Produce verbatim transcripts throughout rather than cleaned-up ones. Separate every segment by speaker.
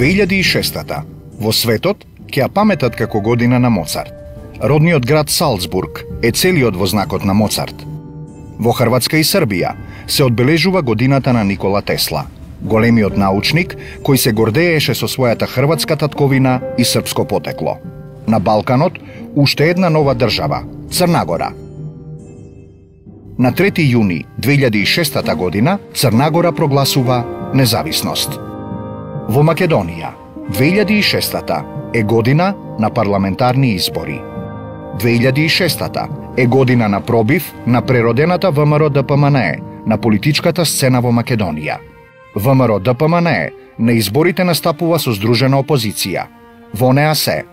Speaker 1: две илјади и шеста. Во светот ќе ја паметат како година на Моцарт. Родниот град Салцбург е целиот во знакот на Моцарт. Во Хрватска и Србија се одбележува годината на Никола Тесла, големиот научник кој се гордееше со својата хрватска татковина и српско потекло. На Балканот уште една нова држава, Црна Гора. На трети јуни две илјади и шеста година Црна Гора прогласува независност. Во Македонија две илјади и шеста е година на парламентарни избори. две илјади и шеста е година на пробив на преродената ВМРО Д П М Н Е на политичката сцена во Македонија. ВМРО Д П М Н Е на изборите настапува со здружена опозиција. Во неа се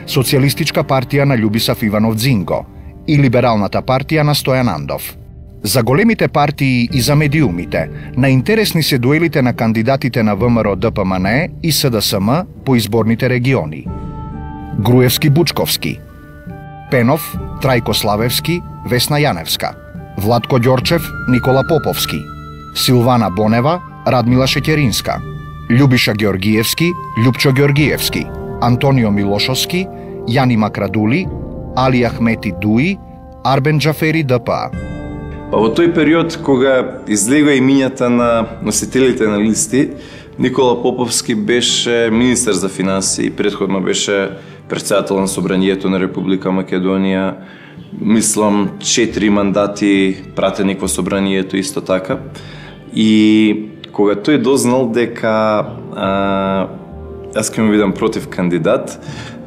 Speaker 1: Социјалистичка партија на Љубисав Иванов Дзинго и Либералната партија на Стојан Андов. За големите партии и за медиумите, наинтересни се дуелите на кандидатите на ВМРО Д П М Н Е и С Д С М по изборните региони. Груевски-Бучковски, Пенов, Трајко Славевски, Весна Јаневска, Владко Ѓорчев, Никола Поповски, Силвана Бонева, Радмила Шеќеринска, Љубиша Георгиевски, Љупчо Георгиевски, Антонио Милошовски, Јани Макрадули, Али Ахмети Дуи, Арбен Џафери Д П А.
Speaker 2: Во тој период, кога излега имињата на носителите на листи, Никола Поповски беше министер за финансии и претходно беше председател на Собранието на Република Македонија. Мислам, четири мандати пратеник во Собранието исто така. И кога тој дознал дека а, јас ќе му видам против кандидат,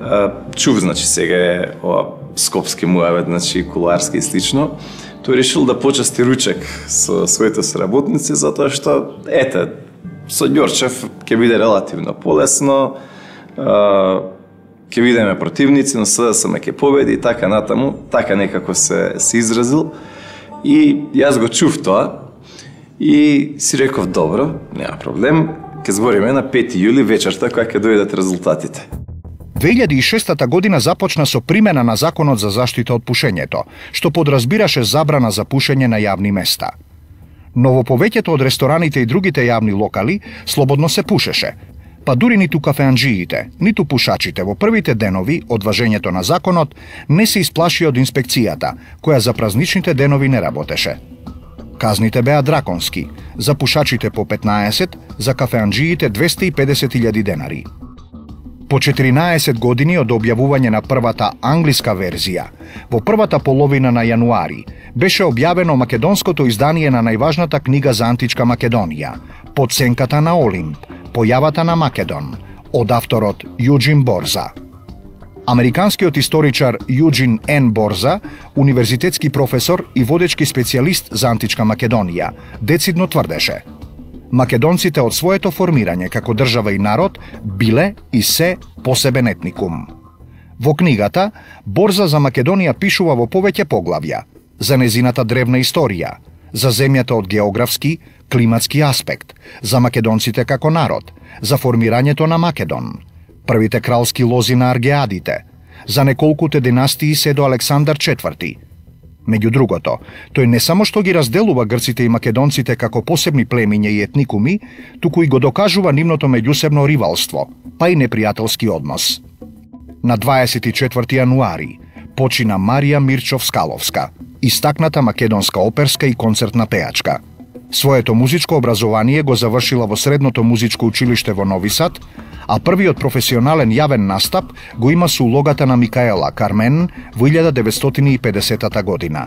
Speaker 2: а, чув, значи, сега е ова скопски муавет, значи, кулуарски и слично, тој решил да почасти ручек со своите соработници, затоа што, ете, со Ѓорчев ќе биде релативно полесно, ќе бидеме противници, но С Д С М ќе победи и така натаму, така некако се, се изразил. И јас го чув тоа и си реков, добро, нема проблем, ќе збориме на пети јули вечерта кога ќе дојдат резултатите.
Speaker 1: две илјади и шеста година започна со примена на Законот за заштита од пушењето, што подразбираше забрана за пушење на јавни места. Но во повеќето од рестораните и другите јавни локали слободно се пушеше, па дури ниту кафеанџиите, ниту пушачите во првите денови од важењето на законот не се исплаши од инспекцијата, која за празничните денови не работеше. Казните беа драконски, за пушачите по петнаесет, за кафеанџиите двесте и педесет илјади денари. По четиринаесет години од објавување на првата англиска верзија, во првата половина на јануари, беше објавено македонското издание на најважната книга за античка Македонија, Под сенката на Олимп, Појавата на Македон, од авторот Јуџин Борза. Американскиот историчар Јуџин Н. Борза, универзитетски професор и водечки специјалист за античка Македонија, децидно тврдеше: македонците од своето формирање како држава и народ биле и се посебен етникум. Во книгата, Борза за Македонија пишува во повеќе поглавја за незината древна историја, за земјата од географски, климатски аспект, за македонците како народ, за формирањето на Македон, првите кралски лози на аргеадите, за неколкуте династии се до Александар четврти. Меѓу другото, тој не само што ги разделува грците и македонците како посебни племиња и етникуми, туку и го докажува нивното меѓусебно ривалство, па и непријателски однос. На дваесет и четврти јануари почина Марија Мирчов-Скаловска, истакната македонска оперска и концертна пејачка. Своето музичко образование го завршила во Средното музичко училиште во Нови Сад, а првиот професионален јавен настап го има со улогата на Микаела Кармен во илјада деветстотини и педесета година.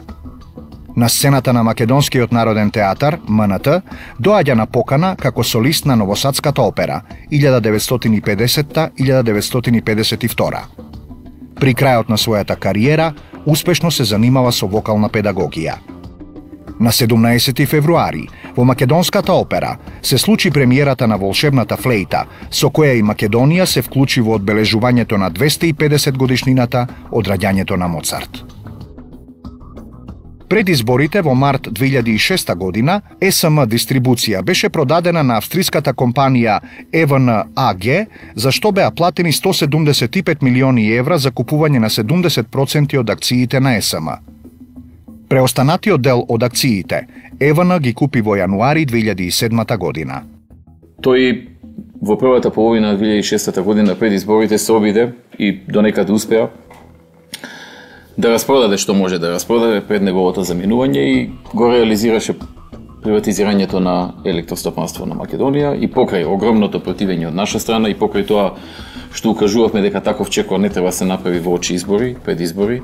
Speaker 1: На сцената на Македонскиот народен театар, М Н Т, доаѓа на покана како солист на Новосадската опера илјада деветстотини и педесета - илјада деветстотини и педесет и втора. При крајот на својата кариера, успешно се занимава со вокална педагогија. На седумнаесети февруари, во Македонската опера, се случи премиерата на Волшебната флејта, со која и Македонија се вклучи во одбележувањето на двесте и педесет годишнината од раѓањето на Моцарт. Пред изборите во март две илјади и шеста година, С М дистрибуција беше продадена на австриската компанија Е В Н А Г, за што беа платени сто седумдесет и пет милиони евра за купување на седумдесет проценти од акциите на С М. Преостанатиот дел од акциите Е В Н ги купи во јануари две илјади и седма година.
Speaker 2: Тој
Speaker 3: во првата половина на две илјади и шестата година пред изборите се обиде и донекаде успеа да распродаде што може да распродаде пред неговото заминување и го реализираше приватизирањето на електростопанство на Македонија и покрај огромното противење од наша страна и покрај тоа што укажувавме дека таков чекор не треба се направи во очи избори, пред избори,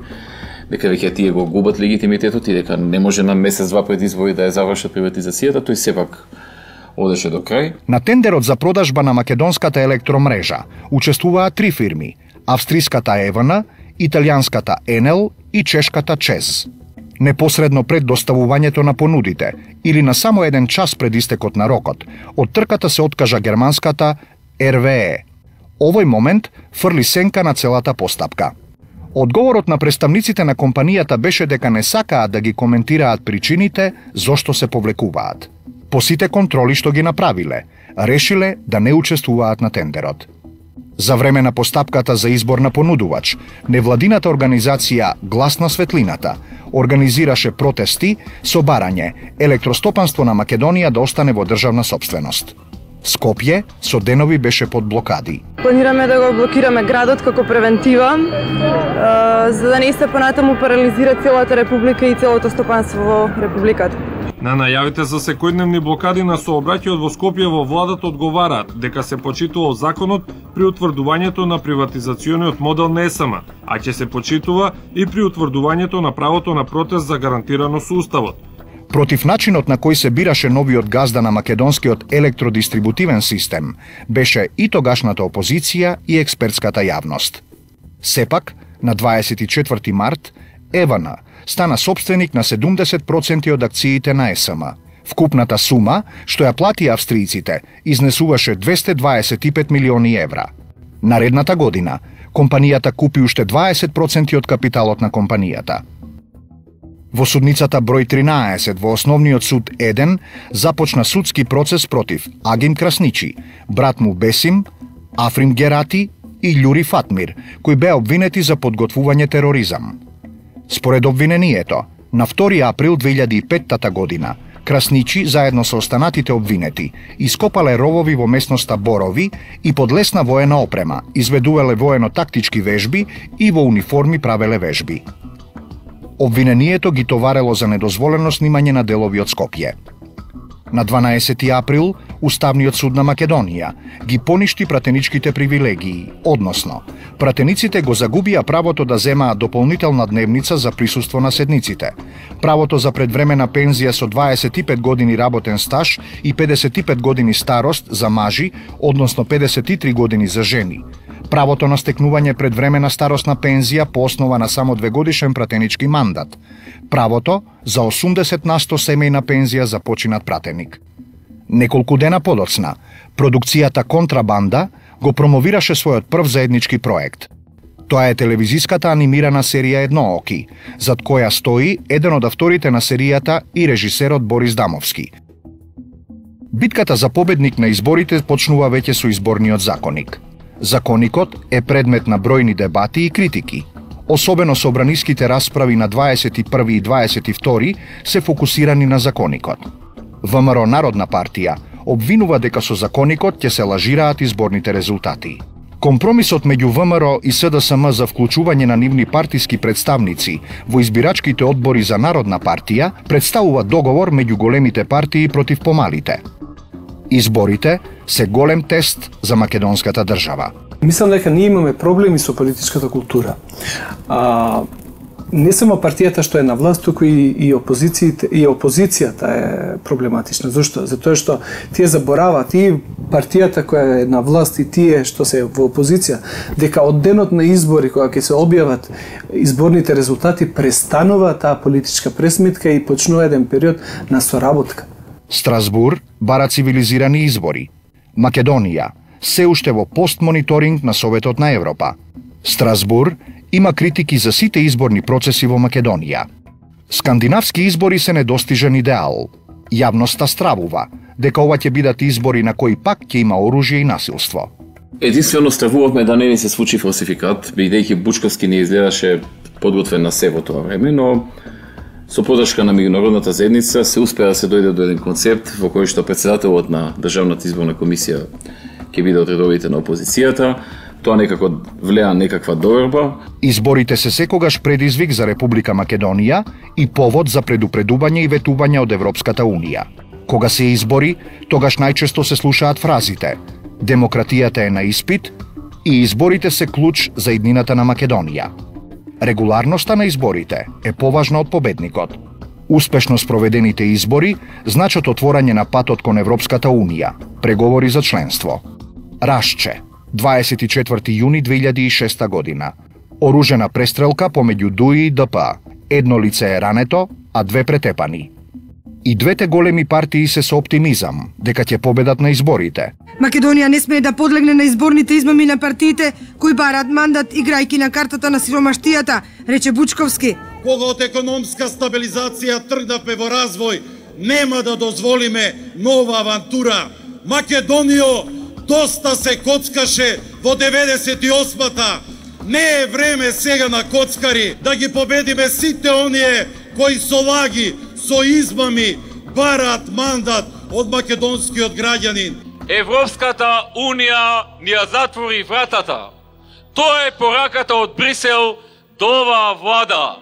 Speaker 3: дека веќе тие го губат легитимитетот и дека не може на месец-два пред избори да ја завршат приватизацијата, тој сепак одеше до крај.
Speaker 1: На тендерот за продажба на македонската електромрежа учествуваат три фирми: австриската ЕВН, италијанската Енел и чешката ЧЕЗ. Непосредно пред доставувањето на понудите или на само еден час пред истекот на рокот, од трката се откажа германската ер ве е. Овој момент фрли сенка на целата постапка. Одговорот на представниците на компанијата беше дека не сакаат да ги коментираат причините зошто се повлекуваат. По сите контроли што ги направиле, решиле да не учествуваат на тендерот. За време на постапката за избор на понудувач, невладината организација Глас на светлината организираше протести со барање електростопанство на Македонија да остане во државна сопственост. Скопје со денови беше под блокади.
Speaker 4: Планираме да го блокираме градот како превентива, за да не се понатаму парализира целата република и целото стопанство во републиката.
Speaker 5: На најавите за секојдневни блокади на сообраќајот во Скопје во владата одговараат дека се почитувал законот при утврдувањето на приватизациониот модел на ес ем, а ќе се почитува и при утврдувањето на правото на протест за гарантирано со уставот.
Speaker 1: Против начинот на кој се бираше новиот газда на македонскиот електродистрибутивен систем беше и тогашната опозиција и експертската јавност. Сепак, на дваесет и четврти март, ЕВН стана собственик на седумдесет проценти од акциите на ес ем. Вкупната сума, што ја плати австријците, изнесуваше двесте дваесет и пет милиони евра. Наредната година, компанијата купи уште дваесет проценти од капиталот на компанијата. Во судницата број тринаесет во Основниот суд еден започна судски процес против Агим Красничи, брат му Бесим, Африм Герати и Љури Фатмир, кои беа обвинети за подготвување тероризам. Според обвинението, на втори април две илјади и петта година, Красничи, заедно со останатите обвинети, ископале ровови во местноста Борови и под лесна воена опрема, изведувале воено-тактички вежби и во униформи правеле вежби. Обвинението ги товарело за недозволено снимање на делови од Скопје. На дванаесети април, Уставниот суд на Македонија ги поништи пратеничките привилегии, односно, пратениците го загубија правото да земаат дополнителна дневница за присуство на седниците, правото за предвремена пензија со дваесет и пет години работен стаж и педесет и пет години старост за мажи, односно педесет и три години за жени, правото на стекнување предвремена старосна пензија по основа на само двегодишен пратенички мандат, правото за осумдесет на сто семејна пензија за починат пратеник. Неколку дена подоцна, продукцијата Контрабанда го промовираше својот прв заеднички проект. Тоа е телевизиската анимирана серија Еднооки, зад која стои еден од авторите на серијата и режисерот Борис Дамовски. Битката за победник на изборите почнува веќе со изборниот законик. Законикот е предмет на бројни дебати и критики. Особено собраниските расправи на дваесет и први и дваесет и втори се фокусирани на законикот. ВМРО Народна партија обвинува дека со законикот ќе се лажираат изборните резултати. Компромисот меѓу ВМРО и С Д С М за вклучување на нивни партиски представници во избирачките одбори за Народна партија представува договор меѓу големите партии против помалите. Изборите се голем тест за македонската држава.
Speaker 6: Мислам дека ние имаме проблеми со политичката култура. А, не само партијата што е на власт, туку и, и опозицијата, и опозицијата е проблематична. Зошто? Затоа што тие забораваат и партијата која е на власт и тие што се во опозиција, дека од денот на избори кога ќе се објават изборните резултати престанува таа политичка пресметка и почнува еден период на соработка.
Speaker 1: Страсбур бара цивилизирани избори. Македонија се уште во постмониторинг на Советот на Европа. Страсбур има критики за сите изборни процеси во Македонија. Скандинавски избори се недостижен идеал. Јавноста стравува дека ова ќе бидат избори на кои пак ќе има оружје и насилство.
Speaker 3: Единствено стравувавме да не ни се случи фалсификат, бидејќи Бучковски не изгледаше подготвен на се во тоа време, но со подршка на меѓународната заедница се успеа да се дојде до еден концепт во кој што председателот на Државната изборна комисија ќе биде од редовите на опозицијата. Тоа некако влеа некаква доверба.
Speaker 1: Изборите се секогаш предизвик за Република Македонија и повод за предупредување и ветување од Европската Унија. Кога се избори, тогаш најчесто се слушаат фразите: демократијата е на испит и изборите се клуч за иднината на Македонија. Регуларноста на изборите е поважна од победникот. Успешно спроведените избори значат отворање на патот кон Европската Унија, преговори за членство. Рашче, дваесет и четврти јуни две илјади и шеста година. Оружена престрелка помеѓу ДУИ и ДП. Едно лице е рането, а две претепани. И двете големи партии се со оптимизам дека ќе победат на изборите.
Speaker 7: Македонија не смее да подлегне на изборните измами на партиите кои бараат мандат играјки на картата на сиромаштијата, рече Бучковски.
Speaker 8: Кога од економска стабилизација тргнавме во развој, нема да дозволиме нова авантура. Македонијо доста се коцкаше во деветдесет и осмата. Не е време сега на коцкари да ги победиме сите оние кои со лаги, со измами бараат мандат од македонскиот граѓанин.
Speaker 9: Европската Унија ни ја затвори вратата. Тоа е пораката од Брисел до оваа влада.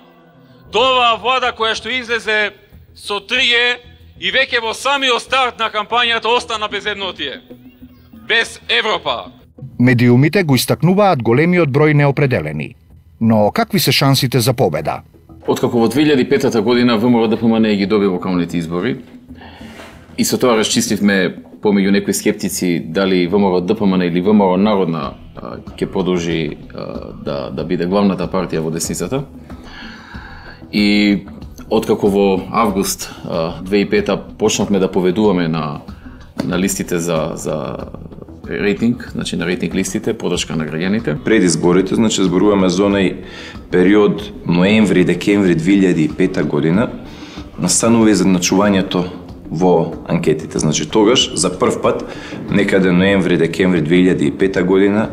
Speaker 9: До оваа влада која што излезе со трие и веќе во самиот старт на кампањата остана без еднотие. Без Европа.
Speaker 1: Медиумите го истакнуваат големиот број неопределени. Но какви се шансите за победа?
Speaker 3: Откако во две илјади и пета година ВМРО-ДПМН ги доби локалните избори и со тоа расчистивме помеѓу некои скептици дали ВМРО-ДПМН или ВМРО Народна ќе продолжи да, да биде главната партија во десницата. И откако во август две илјади и пета почнавме да поведуваме на, на листите за, за рейтинг, значи на рейтинг листите, подршка на граѓаните.
Speaker 2: Пред изборите, значи зборуваме за онај период ноември-декември две илјади и пета година, настанува изедначувањето во анкетите. Значи тогаш за прв пат, некаде ноември-декември две илјади и пета година,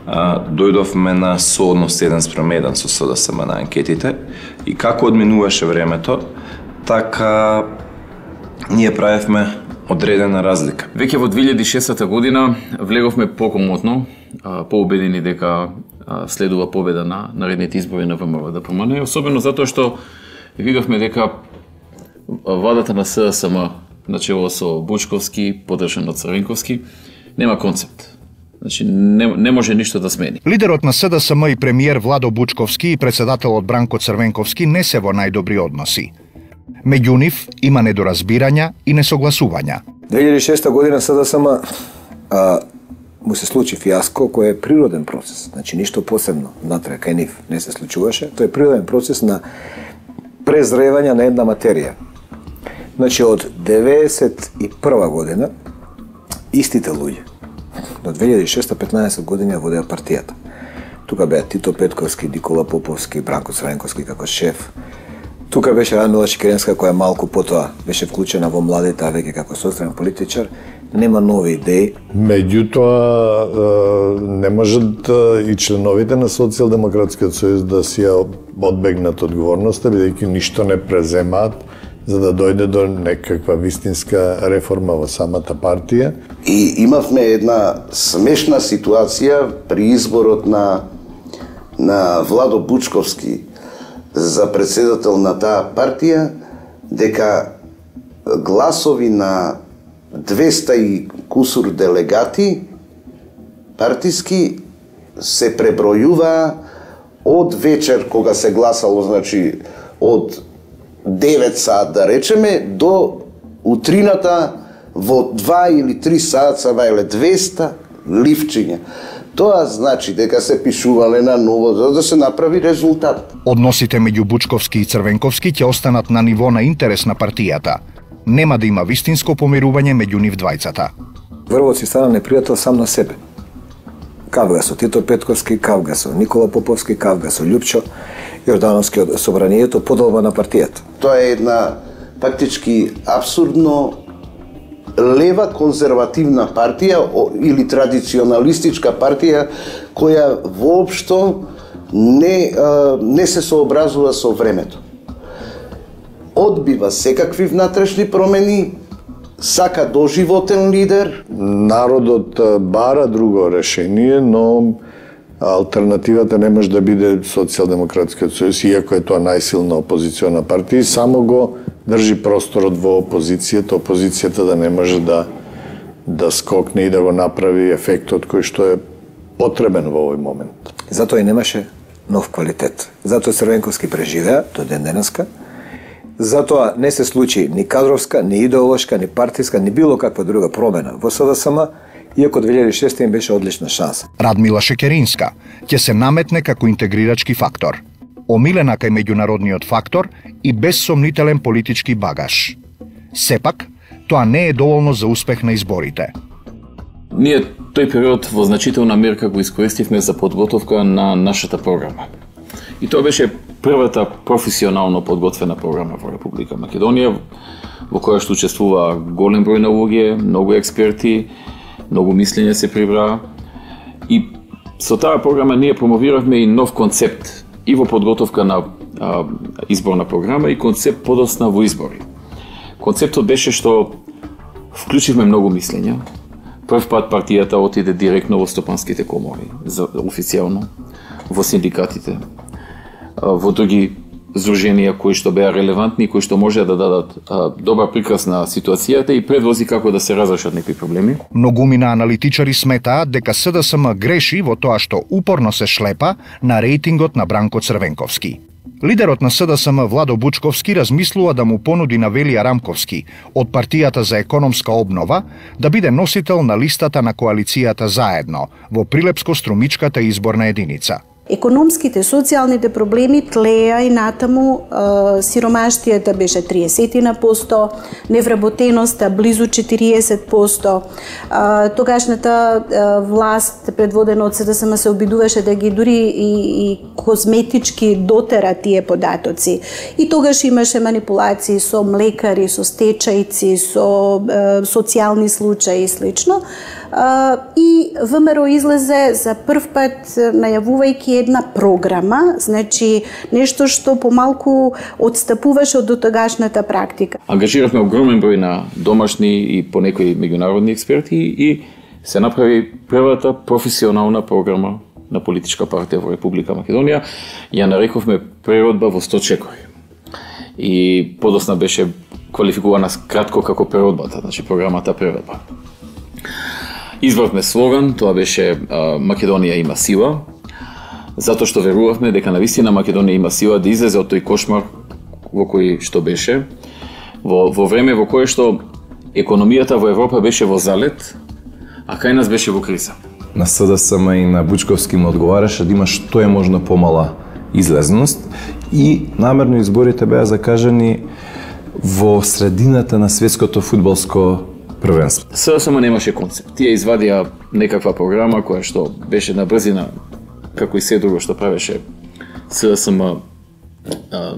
Speaker 2: а, дојдовме на соодност еден спрем еден со СДСМ на анкетите и како одминуваше времето, така ние правевме одредена разлика.
Speaker 3: Веќе во две илјади и шеста година влеговме покомотно, поубедени дека следува победа на наредните избори на ВМРО-ДПМН, особено затоа што видовме дека владата на СДСМ, начело со Бучковски, подржан од Црвенковски, нема концепт. Значи не, не може ништо да смени.
Speaker 1: Лидерот на СДСМ и премиер Владо Бучковски и председателот Бранко Црвенковски не се во најдобри односи. Меѓу нив има недоразбирања и несогласувања.
Speaker 10: две илјади и шеста година СДСМ а, му се случи фијаско кој е природен процес. Значи ништо посебно натре кај нив не се случуваше. Тој е природен процес на презревање на една материја. Значи од деветдесет и прва година истите луѓе до две илјади и шеста петнаесет години ја водеа партијата. Тука беа Тито Петковски, Никола Поповски, Бранко Црвенковски како шеф. Тука беше Радмила Чекеренска која малку потоа беше вклучена во младите, а веќе како соцдравен политичар. Нема нови идеи.
Speaker 11: Меѓутоа не можат и членовите на Социјалдемократскиот сојуз да си ја одбегнат одговорноста, бидејќи ништо не преземаат за да дојде до некаква вистинска реформа во самата партија.
Speaker 12: И имавме една смешна ситуација при изборот на на Владо Бучковски за председател на таа партија, дека гласови на двеста и кусур делегати партиски се пребројуваа од вечер кога се гласало, значи од девет саат да речеме, до утрината во два или три саат са бајле двеста ливчиња. Тоа значи дека се пишувале на ново за да се направи резултат.
Speaker 1: Односите меѓу Бучковски и Црвенковски ќе останат на ниво на интерес на партијата. Нема да има вистинско помирување меѓу нив двајцата.
Speaker 10: Врвот си стана непријател сам на себе. Кавга со Тито Петковски, кавга со Никола Поповски, кавга со Љупчо Јордановски од собранието, подолба на партијата.
Speaker 12: Тоа е една фактички абсурдно лева конзервативна партија или традиционалистичка партија која воопшто не, не се сообразува со времето. Одбива секакви внатрешни промени сака доживотен лидер.
Speaker 11: Народот бара друго решение, но алтернативата не може да биде Социјалдемократскиот сојуз, иако е тоа најсилна опозициона партија, само го држи просторот во опозицијата, опозицијата да не може да да скокне и да го направи ефектот кој што е потребен во овој момент.
Speaker 10: Затоа и немаше нов квалитет. Затоа Црвенковски преживеа до ден денеска. Затоа не се случи ни кадровска, ни идеолошка, ни партиска, ни било каква друга промена во СДСМ, иако две илјади и шеста им беше одлична шанса.
Speaker 1: Радмила Шекеринска ќе се наметне како интегрирачки фактор, омилена кај меѓународниот фактор и безсомнителен политички багаж. Сепак, тоа не е доволно за успех на изборите.
Speaker 3: Ние тој период во значителна мерка го искористивме за подготовка на нашата програма. И тоа беше првата професионално подготвена програма во Република Македонија, во која што учествува голем број на луѓе, многу експерти, многу мислење се прибра. И со таа програма ние промовиравме и нов концепт и во подготовка на а, изборна програма и концепт подосна во избори. Концептот беше што вклучивме многу мислења. Прв пат партијата отиде директно во стопанските комори, за официјално, во синдикатите, во други здруженија кои што беа релевантни, кои што може да дадат а, добра прикрас на ситуацијата и предвози како да се разрешат некои проблеми.
Speaker 1: Многумина аналитичари сметаат дека СДСМ греши во тоа што упорно се шлепа на рейтингот на Бранко Црвенковски. Лидерот на СДСМ Владо Бучковски размислува да му понуди на Велија Рамковски од партијата за економска обнова да биде носител на листата на коалицијата Заедно во Прилепско-Струмичката изборна единица.
Speaker 13: Економските, социјалните проблеми тлеа и натаму, сиромаштијата беше триесет посто, невработеноста близу четириесет посто. Тогашната власт, предводена од СДСМ, се обидуваше да ги дури и, и козметички дотера тие податоци. И тогаш имаше манипулации со млекари, со стечајци, со социјални случаи и слично. И ВМРО излезе за прв пат најавувајќи една програма, значи нешто што помалку одстапуваше од дотогашната практика.
Speaker 3: Ангажиравме огромен број на домашни и понекои меѓународни експерти и се направи првата професионална програма на политичка партија во Република Македонија. Ја нарековме преродба во сто чекори. И подосна беше квалификувана кратко како преродбата, значи програмата преродба. Избравме слоган, тоа беше а, Македонија има сила, затоа што верувавме дека навистина Македонија има сила да излезе од тој кошмар во кој што беше, во, во време во кое што економијата во Европа беше во залет, а кај нас беше во криза.
Speaker 2: На СДСМ и на Бучковски му одговараше да има што е можно помала излезност и намерно изборите беа закажани во средината на светското фудбалско првенство.
Speaker 3: СДСМ немаше концепт. Тие извадија некаква програма која што беше на брзина, како и се друго што правеше СДСМ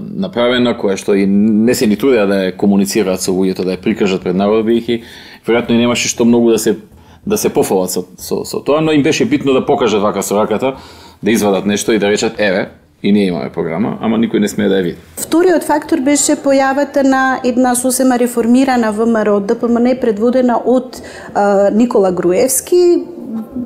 Speaker 3: направена, која што и не се ни трудеа да ја комуницираат со луѓето, да ја прикажат пред народот, бидејќи веројатно и немаше што многу да се да се пофалат со, со, со тоа, но им беше битно да покажат вака со раката, да извадат нешто и да речат еве, и ние имаме програма, ама никој не смее да ја види.
Speaker 13: Вториот фактор беше појавата на една сосема реформирана ВМРО ДПМН предводена од а, Никола Груевски,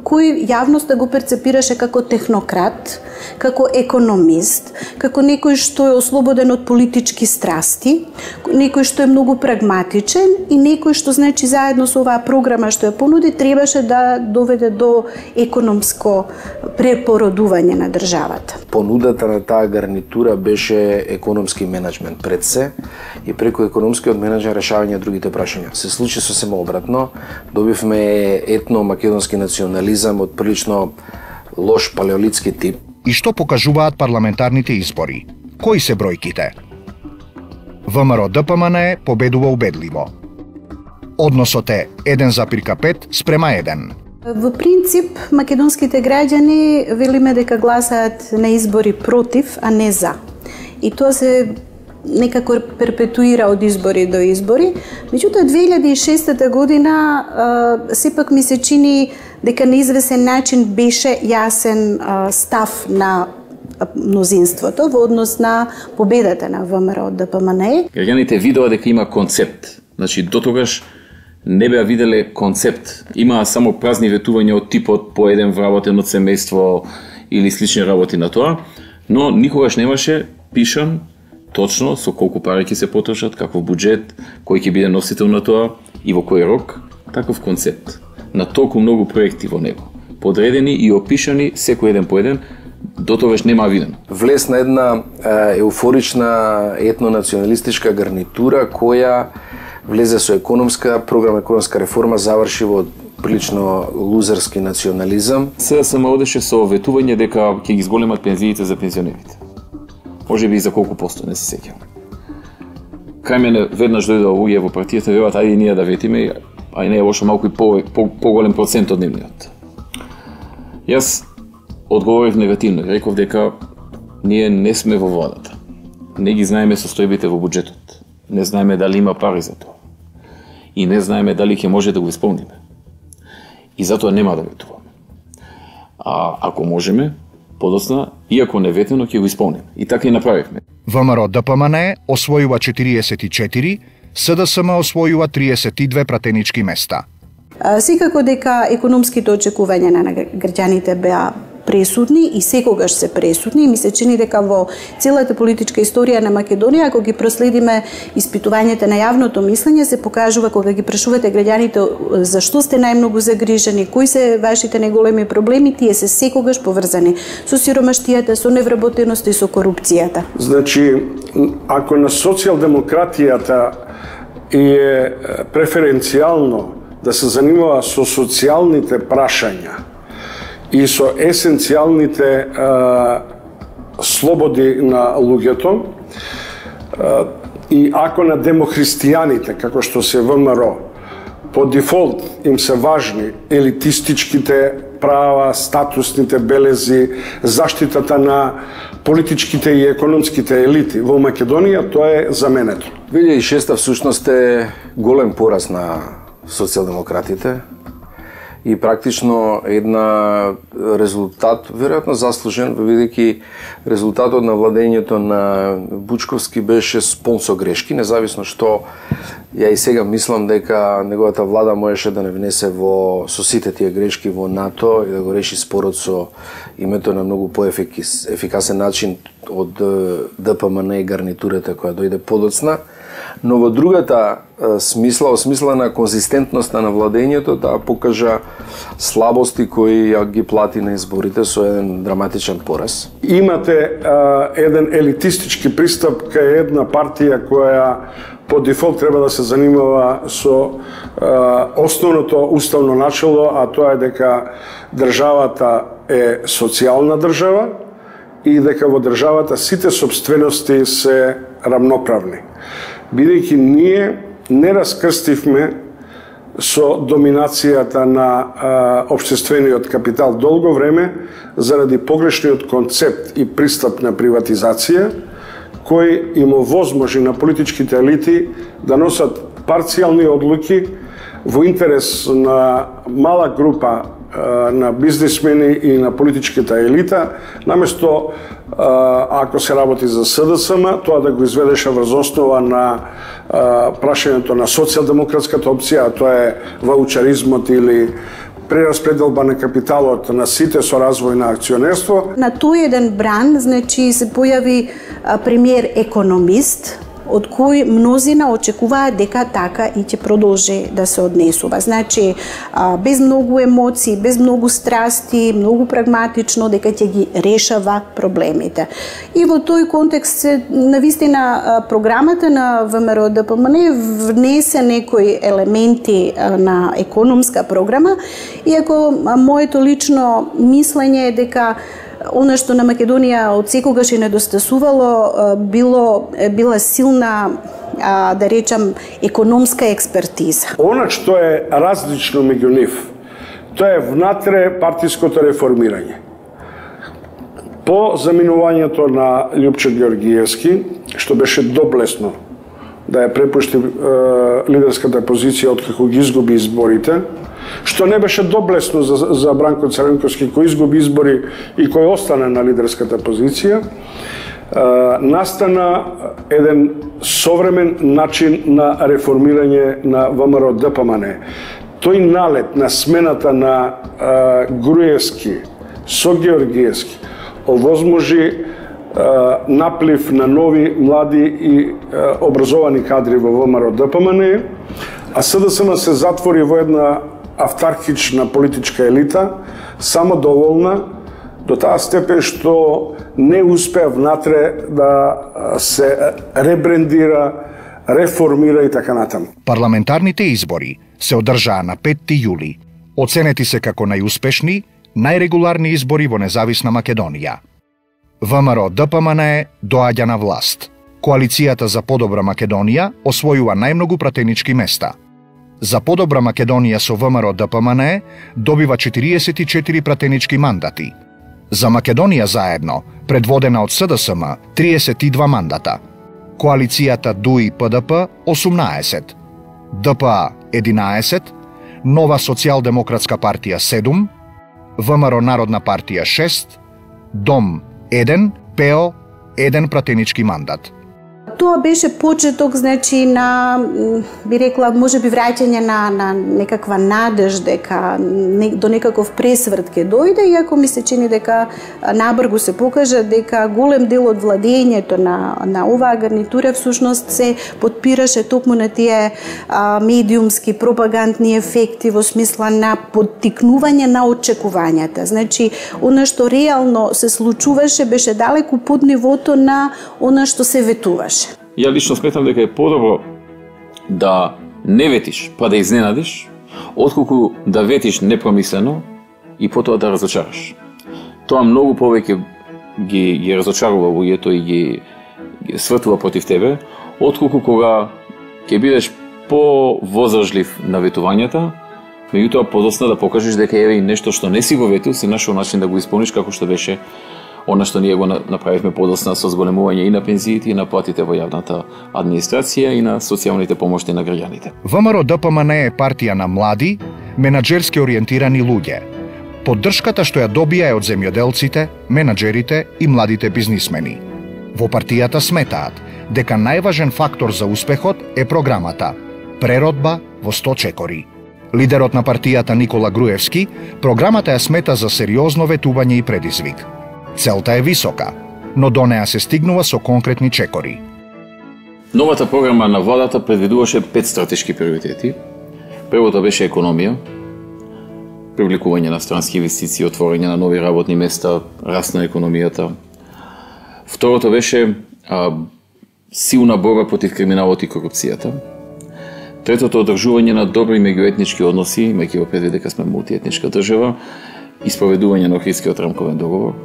Speaker 13: кој јавноста го перцепираше како технократ, како економист, како некој што е ослободен од политички страсти, некој што е многу прагматичен и некој што, значи, заедно со оваа програма што ја понуди, требаше да доведе до економско препородување на државата.
Speaker 14: Понудата на таа гарнитура беше економски менеджмент пред се и преку економскиот менеджмент решавање другите прашања. Се случи сосема обратно. Добивме етно-македонски национализам од прилично лош палеолитски тип.
Speaker 1: И што покажуваат парламентарните избори? Кои се бројките? ВМРО ДПМН победува убедливо. Односот е еден запирка пет спрема еден.
Speaker 13: Во принцип, македонските граѓани велиме дека гласаат на избори против, а не за. И тоа се некако перпетуира од избори до избори. Меѓутоа, две илјади и шеста година сепак ми се чини дека на извесен начин беше јасен а, став на мнозинството во однос на победата на ВМРО ДПМН.
Speaker 3: Граѓаните видоа дека има концепт. Значи, дотогаш не беа виделе концепт. Имаа само празни ветувања од типот по еден вработен од семејство или слични работи на тоа, но никогаш немаше пишан точно со колку пари ќе се потрошат, каков буџет, кој ќе биде носител на тоа и во кој рок, таков концепт. На толку многу проекти во него, подредени и опишани секој еден по еден, дотогаш нема виден.
Speaker 14: Влезна една е, еуфорична етнонационалистичка гарнитура која влезе со економска програма, економска реформа, заврши во прилично лузерски национализам.
Speaker 3: СДСМ одеше со ветување дека ќе ги зголемат пензиите за пензионерите. Може би и за колку посто, не се сеќавам. Кај мене веднаш дојде луѓе во партијата, велат ајде ние да ветиме, а и не е лошо малку и по, по, поголем процент од нивниот. Јас одговорив негативно, реков дека ние не сме во владата. Не ги знаеме состојбите во буџетот. Не знаеме дали има пари за тоа. И не знаеме дали ќе може да го исполниме. И затоа нема да ветуваме. А ако можеме, подоцна, иако не ветено, ќе го исполниме. И така и направивме.
Speaker 1: ВМРО ДПМН освојува четириесет и четири, СДСМ освојува триесет и две пратенички места.
Speaker 13: Секако дека економските очекувања на граѓаните беа пресудни и секогаш се пресудни. Ми се чини дека во целата политичка историја на Македонија, ако ги проследиме испитувањата на јавното мислење, се покажува кога ги прашувате граѓаните зашто сте најмногу загрижени, кои се вашите најголеми проблеми, тие се секогаш поврзани со сиромаштијата, со невработеноста и со корупцијата.
Speaker 15: Значи, ако на социјалдемократијата е преференцијално да се занимава со социјалните прашања и со есенцијалните а, слободи на луѓето, а, и ако на демохристијаните, како што се ВМРО, по дефолт им се важни елитистичките права, статусните белези, заштитата на политичките и економските елити во Македонија, тоа е заменето.
Speaker 14: две илјади и шеста всушност е голем пораз на социјалдемократите и практично една резултат, веројатно заслужен, бидејќи резултатот на владењето на Бучковски беше спон со грешки, независно што ја и сега мислам дека неговата влада можеше да не внесе во со сите тие грешки во НАТО и да го реши спорот со името на многу поефикасен начин од ДПМН и гарнитурата која дојде подоцна. Но во другата смисла, осмисла на конзистентноста на владењето, таа покажа слабости кои ја ги плати на изборите со еден драматичен пораз.
Speaker 15: Имате а, еден елитистички пристап кај една партија која по дефолт треба да се занимава со а, основното уставно начело, а тоа е дека државата е социјална држава и дека во државата сите собственности се рамноправни. Бидејќи ние не раскрстивме со доминацијата на а, општествениот капитал долго време заради погрешниот концепт и пристап на приватизација, кој им овозможи на политичките елити да носат парцијални одлуки во интерес на мала група а, на бизнисмени и на политичката елита, наместо ако се работи за СДСМ, тоа да го изведеше врз основа на а, прашањето на социјалдемократската опција, а тоа е ваучаризмот или прераспределба на капиталот на сите со развој на акционерство.
Speaker 13: На тој еден бран, значи, се појави а, премиер економист, од кој мнозина очекуваат дека така и ќе продолжи да се однесува. Значи, без многу емоции, без многу страсти, многу прагматично, дека ќе ги решава проблемите. И во тој контекст се, навистина, програмата на ВМРО ДПМН внесе некои елементи на економска програма, иако моето лично мислење е дека она што на Македонија од секогаш е недостасувало било била силна, да речам, економска експертиза.
Speaker 15: Она што е различно меѓу нив, тоа е внатре партиското реформирање. По заминувањето на Љупчо Георгиевски, што беше доблесно да ја препушти е, лидерската позиција откако ги изгуби изборите, што не беше доблесно за, за Бранко Црвенковски кој изгуби избори и кој остане на лидерската позиција, настана еден современ начин на реформирање на ВМРО Д П М Н. Тој налет на смената на Груевски со Георгиевски овозможи наплив на нови, млади и образовани кадри во ВМРО Д П М Н, а С Д С М се затвори во една автархична политичка елита, само доволна до таа степен што не успеа внатре да се ребрендира, реформира и така натаму.
Speaker 1: Парламентарните избори се одржаа на петти јули. Оценети се како најуспешни, најрегуларни избори во независна Македонија. ВМРО Д П М Н доаѓа на власт. Коалицијата за подобра Македонија освојува најмногу пратенички места. За подобра Македонија со ВМРО Д П М Н добива четириесет и четири пратенички мандати. За Македонија заедно, предводена од С Д С М, триесет и два мандата. Коалицијата Д У И П Д П осумнаесет, Д П А единаесет, Нова социјалдемократска партија седум, ВМРО Народна партија шест, Дом еден, П О еден пратенички мандат.
Speaker 13: Тоа беше почеток, значи, на, би рекла, може би враќање на, на некаква надеж дека не, до некаков пресврт ќе дојде, иако ми се чини дека набргу се покажа дека голем дел од владењето на, на оваа гарнитура всушност се подпираше токму на тие а, медиумски пропагандни ефекти во смисла на поттикнување на очекувањата. Значи, она што реално се случуваше беше далеку под нивото на она што се ветуваше.
Speaker 3: Ја лично сметам дека е подобро да не ветиш па да изненадиш, отколку да ветиш непромислено и потоа да разочараш. Тоа многу повеќе ги, ги разочарува луѓето и ги, ги свртува против тебе, отколку кога ќе бидеш по-возражлив на ветувањата, меѓутоа подоцна да покажеш дека еве нешто што не си го ветил, си нашол начин да го исполниш како што беше она што ние го направивме подоцна со зголемување и на пензиите, и на платите во јавната администрација, и на социјалните помошти на граѓаните.
Speaker 1: ВМРО Д П М Н е партија на млади, менаџерски ориентирани луѓе. Поддршката што ја добија е од земјоделците, менаџерите и младите бизнисмени. Во партијата сметаат дека најважен фактор за успехот е програмата преродба во сто чекори. Лидерот на партијата Никола Груевски програмата ја смета за сериозно ветување и предизвик. Целта е висока, но до неа се стигнува со конкретни чекори.
Speaker 3: Новата програма на владата предвидуваше пет стратешки приоритети. Првото беше економија, привлекување на странски инвестиции, отворање на нови работни места, раст на економијата. Второто беше а, силна борба против криминалот и корупцијата. Третото одржување на добри меѓуетнички односи, имајќи во предвид дека сме мултиетничка држава, и спроведување на Охридскиот рамковен договор.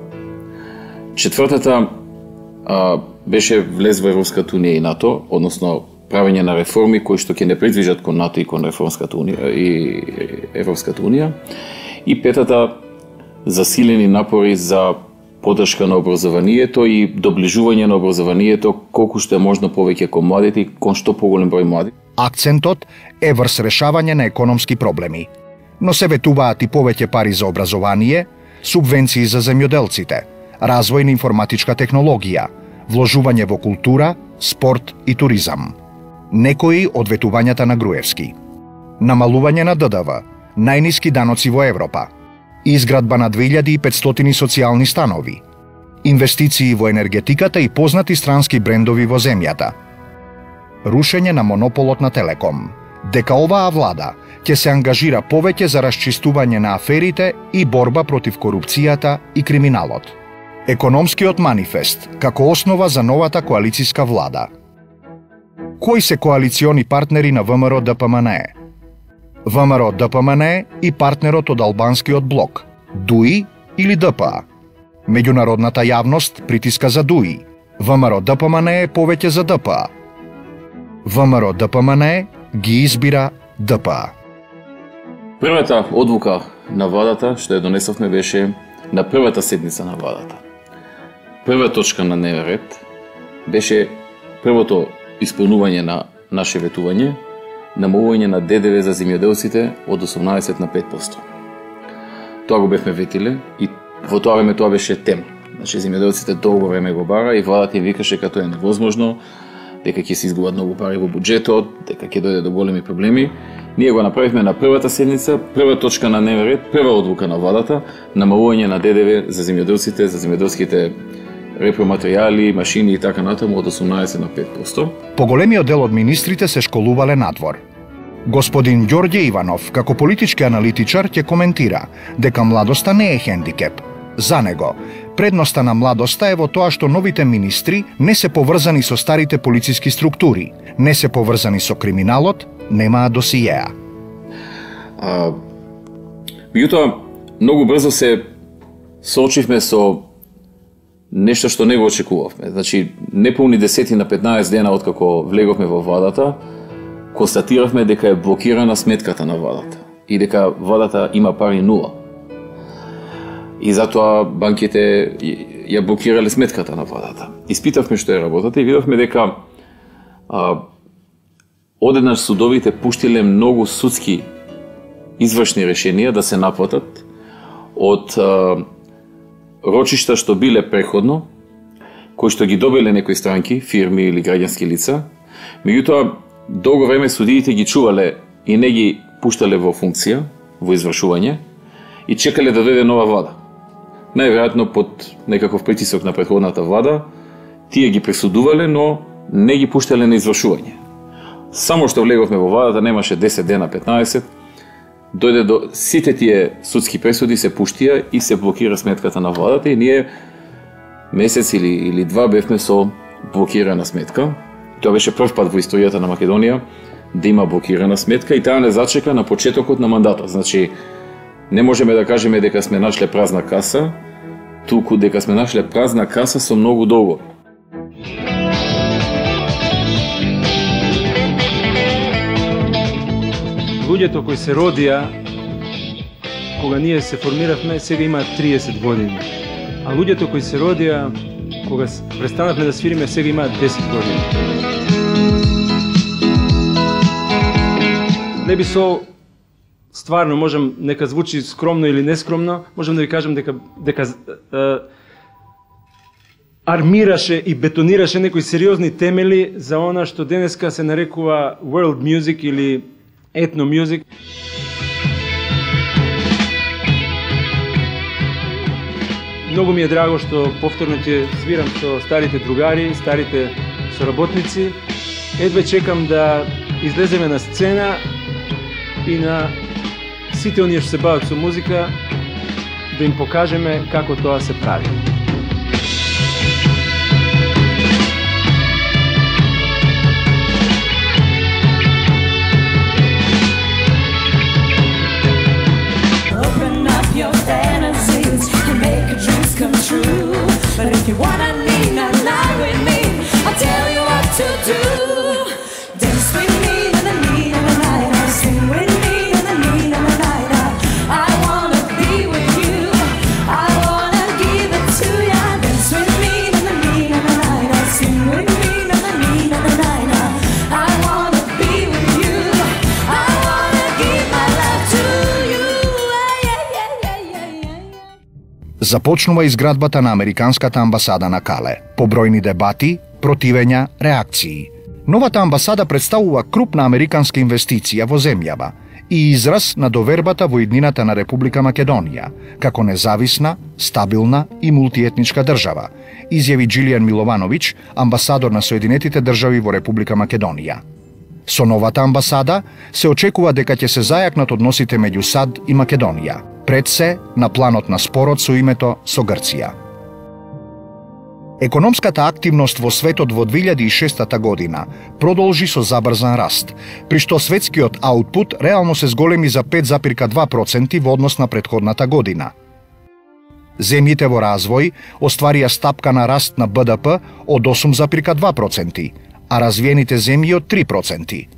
Speaker 3: Четвртата а, беше влез во Европската унија и НАТО, односно правење на реформи кои што ќе не придвижат кон НАТО и кон Реформската унија и Европската унија. И петата засилени напори за поддршка на образованието и доближување на образованието колку што е можно повеќе кон младите и кон што поголем број млади.
Speaker 1: Акцентот е врз решавање на економски проблеми, но се ветуваат и повеќе пари за образование, субвенции за земјоделците, развој на информатичка технологија, вложување во култура, спорт и туризам. Некои од ветувањата на Груевски: намалување на Д Д В, најниски даноци во Европа, изградба на две илјади и петстотини социјални станови, инвестиции во енергетиката и познати странски брендови во земјата, рушење на монополот на Телеком, дека оваа влада ќе се ангажира повеќе за расчистување на аферите и борба против корупцијата и криминалот. Економскиот манифест како основа за новата коалицијска влада. Кои се коалициони партнери на ВМРО Д П М Н? ВМРО Д П М Н и партнерот од албанскиот блок, Д У И или Д П А. Меѓународната јавност притиска за Д У И. ВМРО Д П М Н е повеќе за Д П А. ВМРО Д П М Н ги избира Д П А.
Speaker 3: Првата одлука на владата што ја донесовме беше на првата седница на владата. Прва точка на дневен ред беше првото исполнување на наше ветување, намалување на Д Д В за земјоделците од осумнаесет на пет проценти. Тоа го бевме ветиле и во тоа време тоа беше тема. Значи земјоделците долго време го бара и владата им викаше като е невозможно, дека ќе се изгубат многу пари во буџетот, дека ќе дојде до големи проблеми. Ние го направивме на првата седница, прва точка на дневен ред, прва одлука на владата, намалување на ДДВ за земјоделците, за земјоделските репроматеријали, машини и така натаму од осумнаесет на пет проценти.
Speaker 1: Поголемиот дел од министрите се школувале надвор. Господин Ѓорѓе Иванов, како политички аналитичар, ќе коментира дека младоста не е хендикеп. За него, предноста на младоста е во тоа што новите министри не се поврзани со старите полициски структури, не се поврзани со криминалот, немаат досиеа.
Speaker 3: А, меѓутоа, многу брзо се соочивме со нешто што не го очекувавме. Значи, неполни десет на петнаесет дена откако влеговме во владата, констатиравме дека е блокирана сметката на владата и дека владата има пари нула. И затоа банките ја блокирале сметката на владата. Испитавме што е работата и видовме дека а, одеднаш судовите пуштиле многу судски извршни решенија да се наплатат од а, рочишта што биле преходно, кои што ги добиле некои странки, фирми или граѓански лица. Меѓутоа, долго време судиите ги чувале и не ги пуштале во функција, во извршување, и чекале да дојде нова влада. Најверојатно под некаков притисок на претходната влада, тие ги пресудувале, но не ги пуштале на извршување. Само што влеговме во владата, немаше десет дена, петнаесет, дојде до сите тие судски пресуди се пуштија и се блокира сметката на владата и ние месец или, или два бевме со блокирана сметка. Тоа беше прв пат во историјата на Македонија да има блокирана сметка и таа не зачека на почетокот на мандатот. Значи, не можеме да кажеме дека сме нашле празна каса, туку дека сме нашле празна каса со многу долго.
Speaker 16: Луѓето кои се родија кога ние се формиравме, сега имаат триесет години. А луѓето кои се родија кога престанавме да свириме, сега имаат десет години. Не би со стварно можам, нека звучи скромно или нескромно, можам да ви кажам дека дека е, армираше и бетонираше некои сериозни темели за она што денеска се нарекува world music или ethno music. Многу ми е драго што повторно ќе свирам со старите другари, старите соработници. Едве чекам да излеземе на сцена и на сите оние што се бават со музика да им покажеме како тоа се прави. Come true, but if you wanna lean a line with me, I'll tell you what to do. Dance with me in the need of the night, sing with me in the need of the night. I wanna be with you, I wanna give it to ya. Dance with me in the need of the night, sing with me in the need of the night. I wanna be with you, I wanna give my love to you.
Speaker 1: Започнува изградбата на Американската амбасада на Кале. Побројни дебати, противења, реакции. Новата амбасада представува крупна американска инвестиција во земјава и израз на довербата во иднината на Република Македонија, како независна, стабилна и мултиетничка држава, изјави Джилијан Миловановиќ, амбасадор на Соединетите држави во Република Македонија. Со новата амбасада се очекува дека ќе се зајакнат односите меѓу САД и Македонија, пред се на планот на спорот со името со Грција. Економската активност во светот во две илјади и шеста година продолжи со забрзан раст, при што светскиот аутпут реално се зголеми за пет запирка два проценти во однос на претходната година. Земјите во развој остварија стапка на раст на Б Д П од осум запирка два проценти, а развиените земји од три проценти.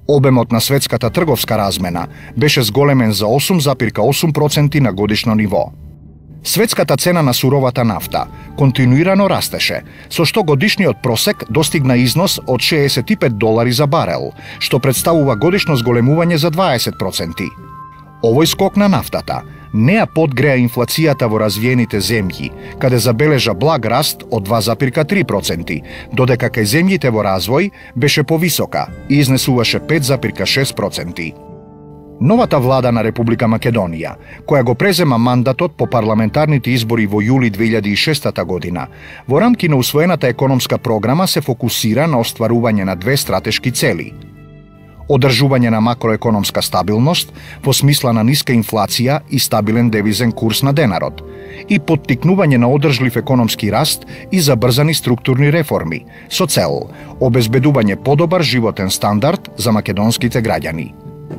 Speaker 1: Обемот на светската трговска размена беше зголемен за осум запирка осум проценти на годишно ниво. Светската цена на суровата нафта континуирано растеше, со што годишниот просек достигна износ од шеесет и пет долари за барел, што представува годишно зголемување за дваесет проценти. Овој скок на нафтата Неа подгреа инфлацијата во развиените земји, каде забележа благ раст од два запирка три проценти, додека кај земјите во развој беше повисока и изнесуваше пет запирка шест проценти. Новата влада на Република Македонија, која го презема мандатот по парламентарните избори во јули две илјади и шеста година, во рамки на усвоената економска програма се фокусира на остварување на две стратешки цели: одржување на макроекономска стабилност во смисла на ниска инфлација и стабилен девизен курс на денарот и поттикнување на одржлив економски раст и забрзани структурни реформи со цел обезбедување подобар животен стандард за македонските граѓани.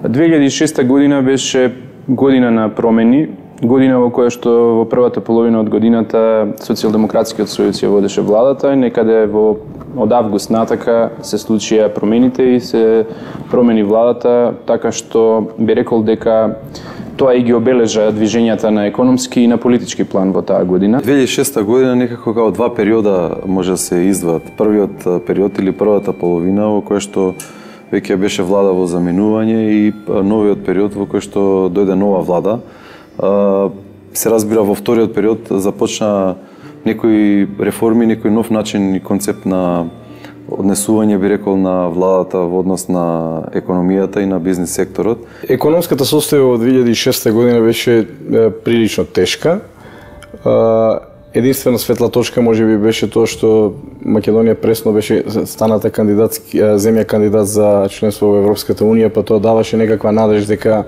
Speaker 17: две илјади и шеста година беше година на промени, година во која што во првата половина од годината Социјалдемократскиот сојуз ја водеше владата и некаде во од август натака се случија промените и се промени владата, така што би рекол дека тоа и ги обележа движењата на економски и на политички план во таа година.
Speaker 2: две илјади и шеста година некако како два периода може да се издваат. Првиот период или првата половина во која што веќе беше влада во заменување и новиот период во кој што дојде нова влада. Се разбира во вториот период започна некои реформи, некој нов начин и концепт на однесување, би рекол, на владата во однос на економијата и на бизнес секторот.
Speaker 18: Економската состојба во две илјади и шеста година беше прилично тешка. Единствена светла точка може би беше тоа што Македонија пресно беше станата кандидатски земја кандидат за членство во Европската унија, па тоа даваше некаква надеж дека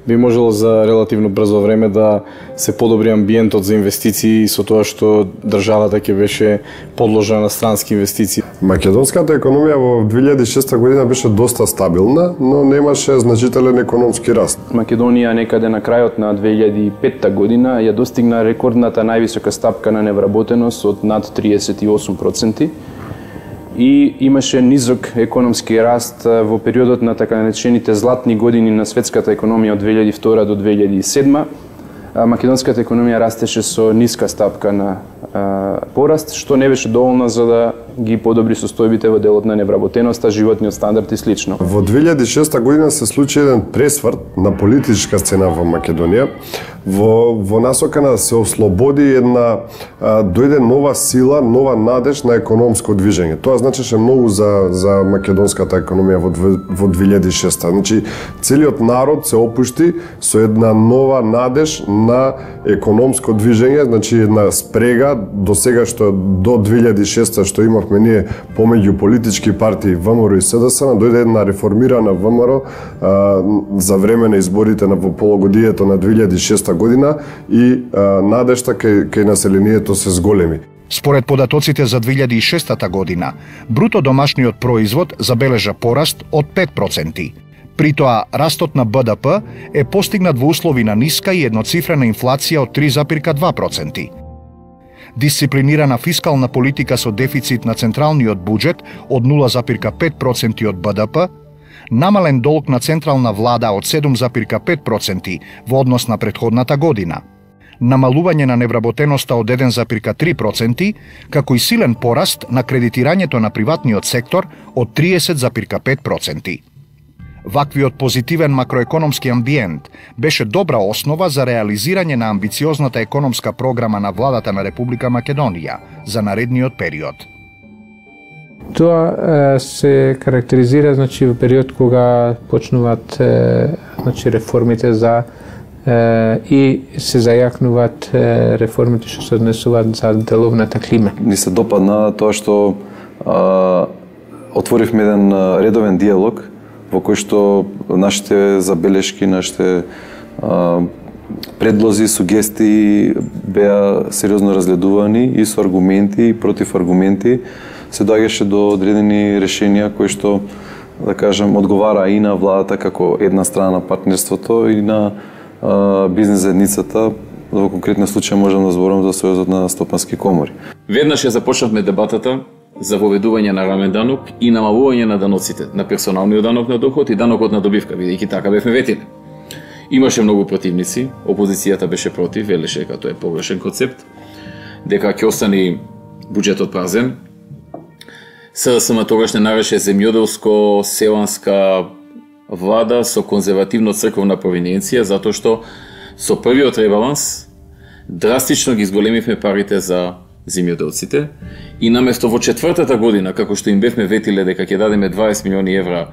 Speaker 18: би можело за релативно брзо време да се подобри амбиентот за инвестиции со тоа што државата ќе беше подложена на странски инвестиции.
Speaker 15: Македонската економија во две илјади и шеста година беше доста стабилна, но немаше значителен економски раст.
Speaker 17: Македонија некаде на крајот на две илјади и петта година ја достигна рекордната највисока стапка на невработеност од над триесет и осум проценти и имаше низок економски раст во периодот на така наречените златни години на светската економија од две илјади и втора до две илјади и седма. Македонската економија растеше со ниска стапка на а, пораст, што не беше доволно за да ги подобри состојбите во делот на невработеноста, животниот стандард и слично.
Speaker 15: Во две илјади и шеста година се случи еден пресврт на политичка сцена во Македонија, во, во насока на се ослободи една, а, дојде нова сила, нова надеж на економско движење. Тоа значеше многу за, за македонската економија во, во две илјади и шеста. Значи, целиот народ се опушти со една нова надеж на економско движење, значи една спрега до сега што до две илјади и шеста што имавме ние помеѓу политички партии ВМРО и СДСМ, дојде една реформирана ВМРО а, за време на изборите на во полугодието на две илјади и шеста година и а, надежта кај, кај населението се зголеми.
Speaker 1: Според податоците за две илјади и шеста година, бруто домашниот производ забележа пораст од пет проценти. При тоа, растот на Б Д П е постигнат во услови на ниска и едноцифрена инфлација од три запирка два проценти. Дисциплинирана фискална политика со дефицит на централниот буџет од нула запирка пет проценти од Б Д П, намален долг на централна влада од седум запирка пет проценти во однос на претходната година, намалување на невработеноста од еден запирка три проценти, како и силен пораст на кредитирањето на приватниот сектор од триесет запирка пет проценти. Ваквиот позитивен макроекономски амбиент беше добра основа за реализирање на амбициозната економска програма на владата на Република Македонија за наредниот период.
Speaker 19: Тоа е, се карактеризира значи во период кога почнуваат е, значи реформите за е, и се зајакнуваат е, реформите што се однесуваат за деловната клима.
Speaker 2: Ни се допадна тоа што а, отворивме еден редовен диалог во кој што нашите забелешки, нашите а, предлози, сугестии беа сериозно разгледувани и со аргументи и против аргументи се доаѓаше до одредени решенија кои што, да кажем, одговара и на владата како една страна на партнерството и на а, бизнес заедницата. Во конкретен случај можам да зборам за Сојузот на стопански комори.
Speaker 3: Веднаш ја започнавме дебатата за воведување на рамен данок и намалување на даноците, на персоналниот данок на доход и данокот на добивка, бидејќи така бевме ветили. Имаше многу противници, опозицијата беше против, велеше дека тоа е погрешен концепт, дека ќе остане буџетот празен. СДСМ тогаш не нареше земјоделско-селанска влада со конзервативно црковна провиненција, затоа што Со првиот ребаланс драстично ги зголемивме парите за земјоделците и наместо во четвртата година, како што им бевме ветиле дека ќе дадеме дваесет милиони евра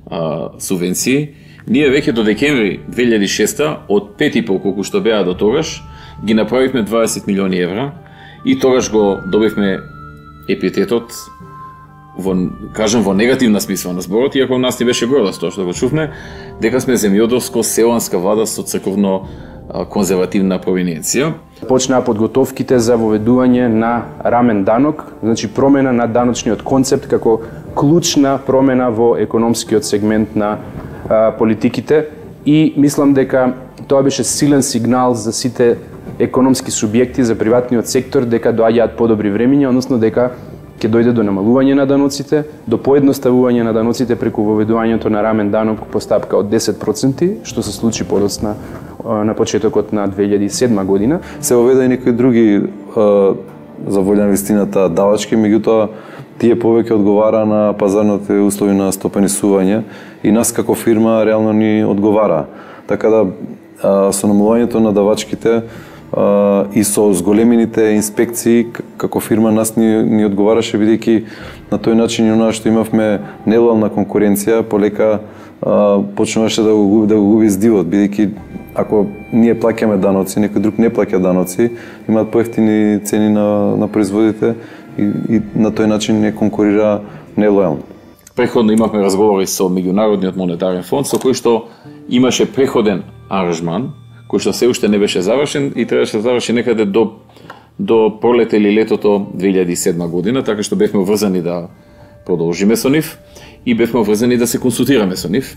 Speaker 3: а, субвенции, ние веќе до декември две илјади и шеста од пет и пол колку што беа до тогаш, ги направивме дваесет милиони евра и тогаш го добивме епитетот во, кажам, во негативна смисла на зборот, иако нас не беше гордост тоа што го чувме, дека сме земјоделско-селанска влада со црковно конзервативна провиненција.
Speaker 17: Почнаа подготовките за воведување на рамен данок, значи промена на даночниот концепт како клучна промена во економскиот сегмент на а, политиките и мислам дека тоа беше силен сигнал за сите економски субјекти, за приватниот сектор, дека доаѓаат подобри времиња, односно дека ќе дојде до намалување на даноците, до поедноставување на даноците преку воведувањето на рамен данок по стапка од десет проценти, што се случи подоцна на почетокот на две илјади и седма година.
Speaker 20: Се воведе и некои други за волја на вистината давачки, меѓутоа тие повеќе одговара на пазарните услови на стопанисување и нас како фирма реално ни одговара. Така да со намалувањето на давачките и со зголемените инспекции како фирма нас ни, ни одговараше, бидејќи на тој начин и онаа што имавме нелојална конкуренција полека а, почнуваше да го губи, да го губи здивот, бидејќи ако ние плаќаме даноци, некој друг не плаќа даноци, имаат поевтини цени на, на производите и, и на тој начин не конкурира нелојално.
Speaker 3: Преходно имавме разговори со Меѓународниот монетарен фонд, со кој што имаше преходен аранжман, кој што се уште не беше завршен и требаше да заврши некаде до до пролета или летото две илјади и седма година, така што бевме врзани да продолжиме со нив и бевме врзани да се консултираме со нив.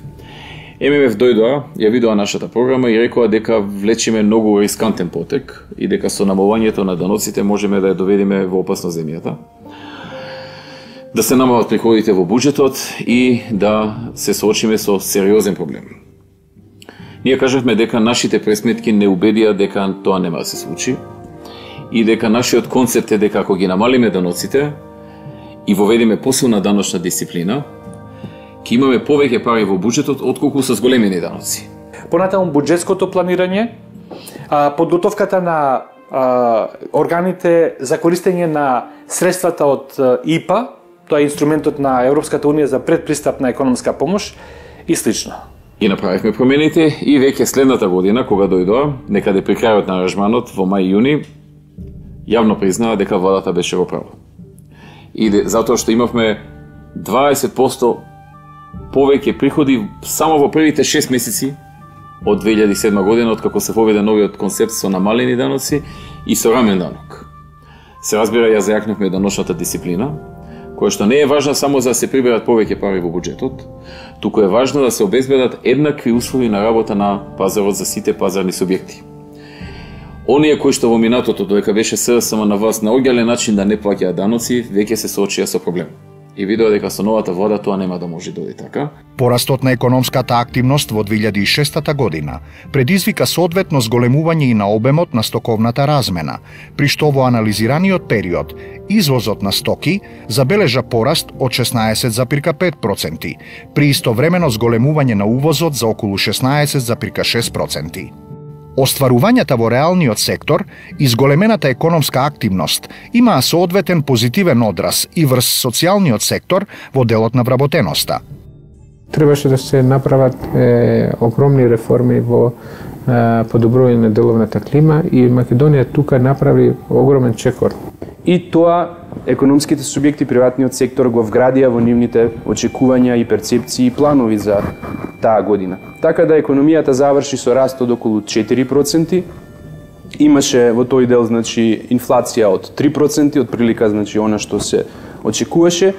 Speaker 3: Ем Ем Еф дојдоа, ја видоа нашата програма и рекоа дека влечиме многу рискантен потек и дека со намалувањето на даноците можеме да ја доведеме во опасно земјата, да се намалат приходите во буџетот и да се соочиме со сериозен проблем. Ние кажавме дека нашите пресметки не убедија дека тоа нема да се случи и дека нашиот концепт е дека ако ги намалиме даноците и воведеме посилна даночна дисциплина, ќе имаме повеќе пари во буџетот отколку со зголемени даноци.
Speaker 21: Понатаму буџетското планирање, подготовката на органите за користење на средствата од И П А, тоа е инструментот на Европската унија за предпристапна економска помош и слично.
Speaker 3: И направивме промените и веќе следната година, кога дојдоа, некаде при крајот на аранжманот во мај-јуни, јавно признаа дека владата беше во право. И затоа што имавме дваесет проценти повеќе приходи само во првите шест месеци од две илјади и седма година, откако се воведе новиот концепт со намалени даноци и со рамен данок. Се разбира, ја зајакнавме даночната дисциплина, која што не е важна само за да се приберат повеќе пари во буџетот, туку е важно да се обезбедат еднакви услови на работа на пазарот за сите пазарни субјекти. Оние кои што во минатото, додека беше С Д С М на власт, наоѓале начин да не плаќаат даноци, веќе се соочија со проблем. И видоа дека со новата влада тоа нема да може да оди така.
Speaker 1: Порастот на економската активност во две илјади и шеста година предизвика соодветно зголемување и на обемот на стоковната размена, при што во анализираниот период извозот на стоки забележа пораст од шеснаесет зарез пет проценти, при истовремено зголемување на увозот за околу шеснаесет зарез шест проценти. Остварувањата во реалниот сектор и зголемената економска активност имаа соодветен позитивен одраз и врз социјалниот сектор во делот на вработеноста.
Speaker 19: Требаше да се направат е, огромни реформи во е, подобрување на деловната клима и Македонија тука направи огромен чекор.
Speaker 17: И тоа економските субјекти, приватниот сектор го вградија во нивните очекувања и перцепции и планови за таа година. Така да економијата заврши со раст од околу четири проценти. Имаше во тој дел, значи, инфлација од три проценти, од прилика, значи, она што се очекуваше,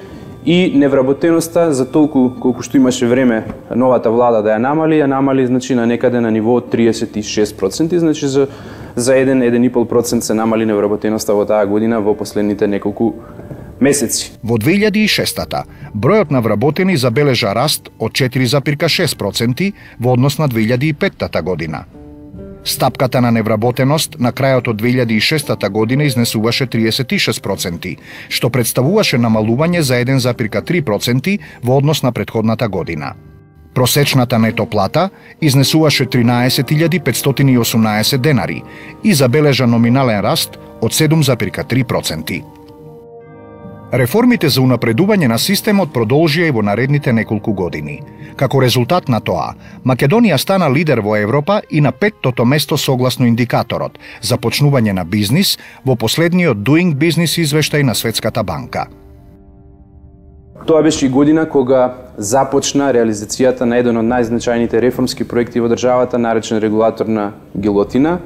Speaker 17: и невработеноста за толку колку што имаше време новата влада да ја намали, ја намали, значи, на некаде на ниво од триесет и шест проценти, значи за за еден до еден и пол процент се намали невработеноста во таа година во последните неколку месеци.
Speaker 1: Во две илјади и шеста бројот на вработени забележа раст од четири зарез шест проценти во однос на две илјади и петта година. Стапката на невработеност на крајот од две илјади и шеста година изнесуваше триесет и шест проценти, што представуваше намалување за еден зарез три проценти во однос на претходната година. Просечната нето плата изнесуваше тринаесет илјади петстотини и осумнаесет денари и забележа номинален раст од седум зарез три проценти. Реформите за унапредување на системот продолжија и во наредните неколку години. Како резултат на тоа, Македонија стана лидер во Европа и на петтото место согласно индикаторот за почнување на бизнис во последниот Doing Business извештај на Светската банка.
Speaker 17: Тоа беше и година кога започна реализацијата на еден од најзначајните реформски проекти во државата, наречен регулаторна гилотина,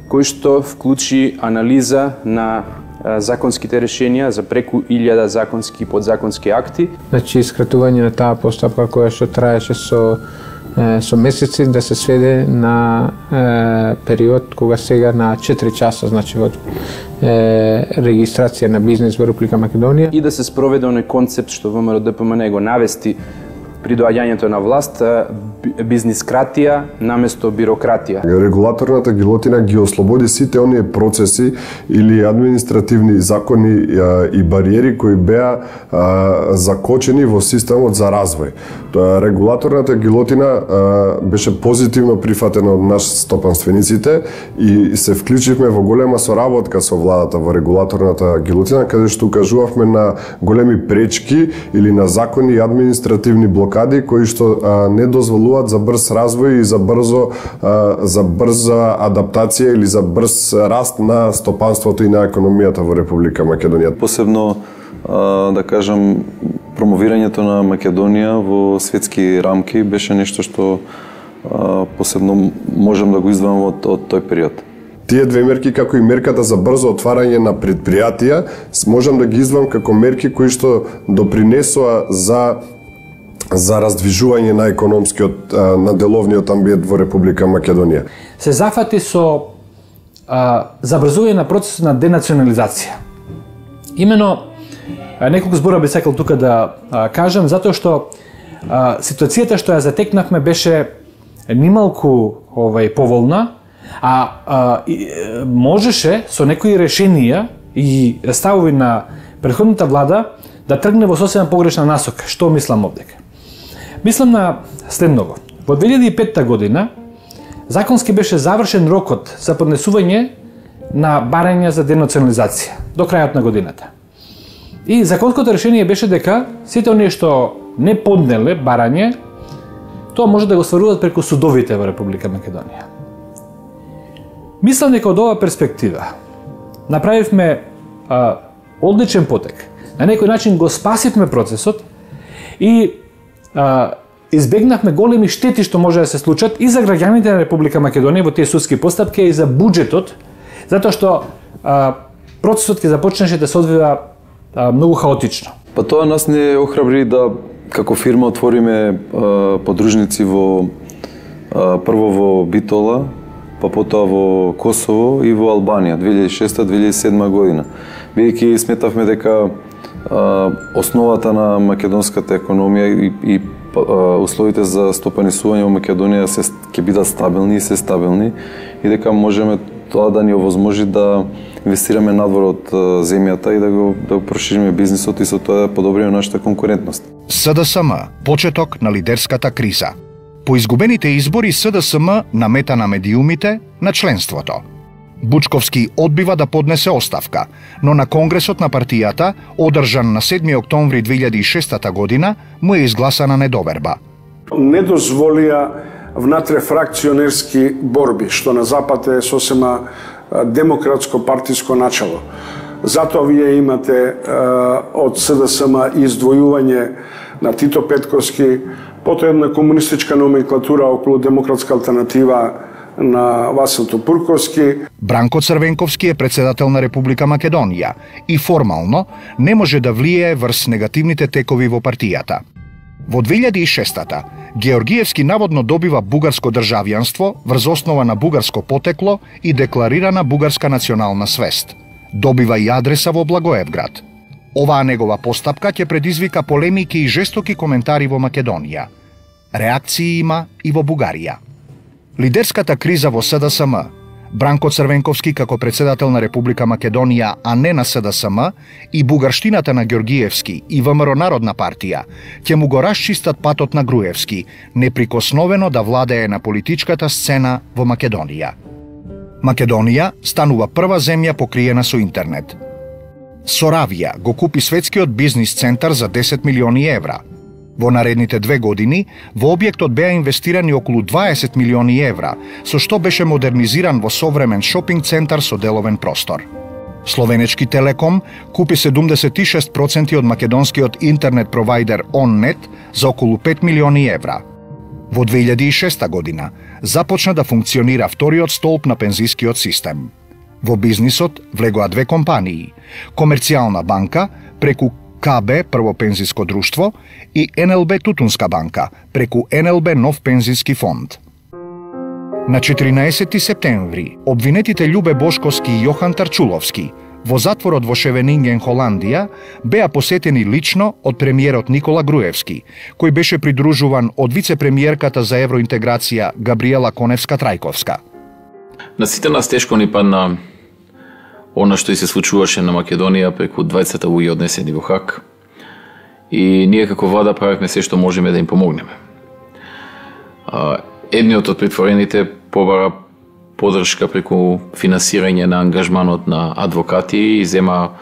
Speaker 17: кој што вклучи анализа на законските решенија за преку илјада законски и подзаконски акти.
Speaker 19: Значи, скратување на таа постапка која што траеше со со месеци да се сведе на е, период кога сега на четири часа, значи во е, регистрација на бизнис во Република Македонија.
Speaker 17: И да се спроведе оној концепт што ВМРО Д П М Н го навести при доаѓањето на власт, бизнискратија наместо бирократија.
Speaker 4: Регулаторната гилотина ги ослободи сите оние процеси или административни закони и бариери кои беа закочени во системот за развој. Регулаторната гилотина беше позитивно прифатена од нас стопанствениците и се вклучивме во голема соработка со владата во регулаторната гилотина, каде што укажувавме на големи пречки или на закони и административни блокади кои што а, не дозволуваат за брз развој и за брзо а, за брза адаптација или за брз раст на стопанството и на економијата во Република Македонија.
Speaker 20: Посебно а, да кажам промовирањето на Македонија во светски рамки беше нешто што а, посебно можам да го издвојам од, од тој период.
Speaker 4: Тие две мерки, како и мерката за брзо отварање на предпријатија, можам да ги издвојам како мерки кои што допринесоа за за раздвижување на економскиот, на деловниот амбиент во Република Македонија.
Speaker 21: Се зафати со а, забрзување на процесот на денационализација. Имено, а, неколку збора би сакал тука да а, кажам, затоа што а, ситуацијата што ја затекнавме беше нималку овај поволна, а, а и, можеше со некои решенија и ставови на претходната влада да тргне во сосема погрешна насока. Што мислам овдека? Мислам на следното. Во две илјади и петта година законски беше завршен рокот за поднесување на барања за денационализација до крајот на годината. И законското решение беше дека сите оние што не поднеле барање, тоа може да го стваруваат преку судовите во Република Македонија. Мислам дека од оваа перспектива направивме а, одличен потек. На некој начин го спасивме процесот и а, избегнавме големи штети што може да се случат и за граѓаните на Република Македонија во тие судски постапки и за буџетот, затоа што а, процесот ќе започнеше да се одвива а, многу хаотично.
Speaker 20: Па тоа нас не охрабри да како фирма отвориме а, подружници во а, прво во Битола, па потоа во Косово и во Албанија две илјади и шеста две илјади и седма година. Бидејќи сметавме дека а, основата на македонската економија и, и а, условите за стопанисување во Македонија се ќе бидат стабилни и се стабилни и дека можеме тоа да ни овозможи да инвестираме надвор од земјата и да го да го прошириме бизнисот и со тоа да подобриме нашата конкурентност.
Speaker 1: С Д С М почеток на лидерската криза. По изгубените избори С Д С М намета на медиумите на членството. Бучковски одбива да поднесе оставка, но на Конгресот на партијата, одржан на седми октомври две илјади и шеста година, му е изгласана недоверба.
Speaker 15: Не дозволија внатре-фракционерски борби, што на Запад е сосема демократско партиско начало. Затоа вие имате од С Д С М издвојување на Тито Петковски, потоа една комунистичка номенклатура околу демократска алтернатива на Васил Топурковски.
Speaker 1: Бранко Црвенковски е председател на Република Македонија и формално не може да влијае врз негативните текови во партијата. Во две илјади и шеста Георгиевски наводно добива бугарско државјанство врз основа на бугарско потекло и декларирана бугарска национална свест. Добива и адреса во Благоевград. Оваа негова постапка ќе предизвика полемики и жестоки коментари во Македонија. Реакции има и во Бугарија. Лидерската криза во С Д С М Бранко Црвенковски како председател на Република Македонија, а не на С Д С М, и бугарштината на Ѓоргиевски и В М Р Народна партија ќе му го расчистат патот на Груевски, неприкосновено да владее на политичката сцена во Македонија. Македонија станува прва земја покриена со интернет. Соравија го купи светскиот бизнис центар за десет милиони евра. Во наредните две години, во објектот беа инвестирани околу дваесет милиони евра, со што беше модернизиран во современ шопинг центар со деловен простор. Словенечки Телеком купи седумдесет и шест проценти од македонскиот интернет провайдер OnNet за околу пет милиони евра. Во две илјади и шеста година започна да функционира вториот столб на пензискиот систем. Во бизнисот влегоа две компании: Комерцијална банка преку К Б Прво пензиско друштво и Н Л Б Тутунска банка преку Н Л Б Нов пензиски фонд. На четиринаесети септември обвинетите Љубе Бошковски и Јохан Тарчуловски во затворот во Шевенинген, Холандија, беа посетени лично од премиерот Никола Груевски, кој беше придружуван од вице-премиерката за евроинтеграција Габриела Коневска-Трајковска.
Speaker 3: На сите нас тешко ни падна она што и се случуваше на Македонија преку дваесет луѓе однесени во Хаг, и ние како влада правевме се што можеме да им помогнеме. Едниот од притворените побара поддршка преку финансирање на ангажманот на адвокати и зема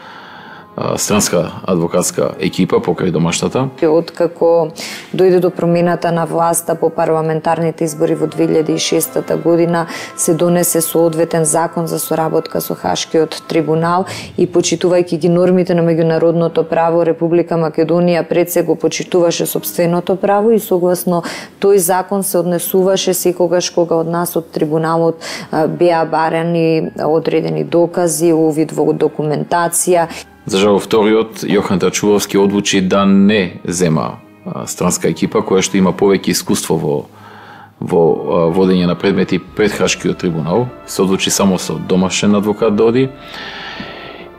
Speaker 3: странска адвокатска екипа покрај домашната.
Speaker 5: Откако дојде до промената на власта по парламентарните избори во две илјади и шеста година, се донесе соодветен закон за соработка со Хашкиот трибунал и почитувајќи ги нормите на меѓународното право, Република Македонија пред се го почитуваше сопственото право и согласно тој закон се однесуваше секогаш кога од нас од трибуналот беа барани одредени докази, увид во документација.
Speaker 3: За жал, вториот, Јохан Тарчуловски, одлучи да не зема странска екипа која што има повеќе искуство во, во водење на предмети пред Хашкиот трибунал. Се одлучи само со домашен адвокат да оди.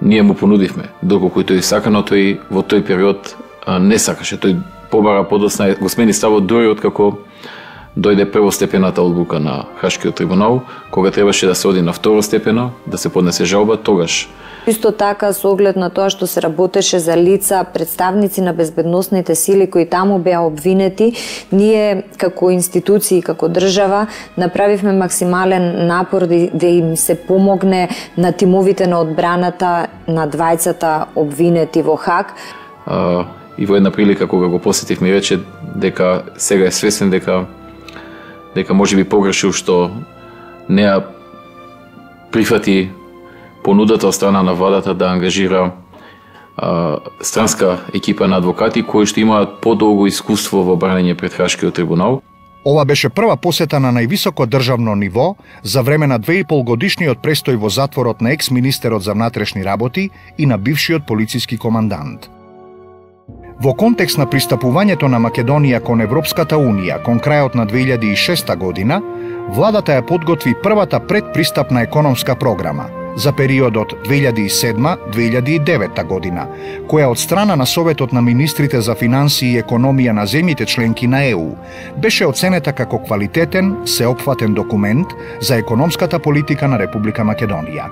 Speaker 3: Ние му понудивме, доколку тој сака, но тој во тој период не сакаше. Тој побара подосна, го смени ставот дури откако дојде првостепената одлука на Хашкиот трибунал, кога требаше да се оди на второстепена, да се поднесе жалба, тогаш.
Speaker 5: Исто така, со оглед на тоа што се работеше за лица, представници на безбедносните сили кои таму беа обвинети, ние како институции, како држава, направивме максимален напор да, да им се помогне на тимовите на одбраната на двајцата обвинети во Хаг.
Speaker 3: А, и во една прилика кога го посетив ми рече дека сега е свесен дека дека може би погрешил што не ја прифати понудата од страна на владата да ангажира а, странска екипа на адвокати кои што имаат подолго искуство во бранење пред Хашкиот трибунал.
Speaker 1: Ова беше прва посета на највисоко државно ниво за време на две и пол годишниот престој во затворот на екс-министерот за внатрешни работи и на бившиот полициски командант. Во контекст на пристапувањето на Македонија кон Европската Унија кон крајот на две илјади и шеста година, владата ја подготви првата предпристапна економска програма за периодот две илјади и седма до две илјади и девета година, која од страна на Советот на министрите за финансии и економија на земјите членки на Е У беше оценета како квалитетен, сеопфатен документ за економската политика на Република Македонија.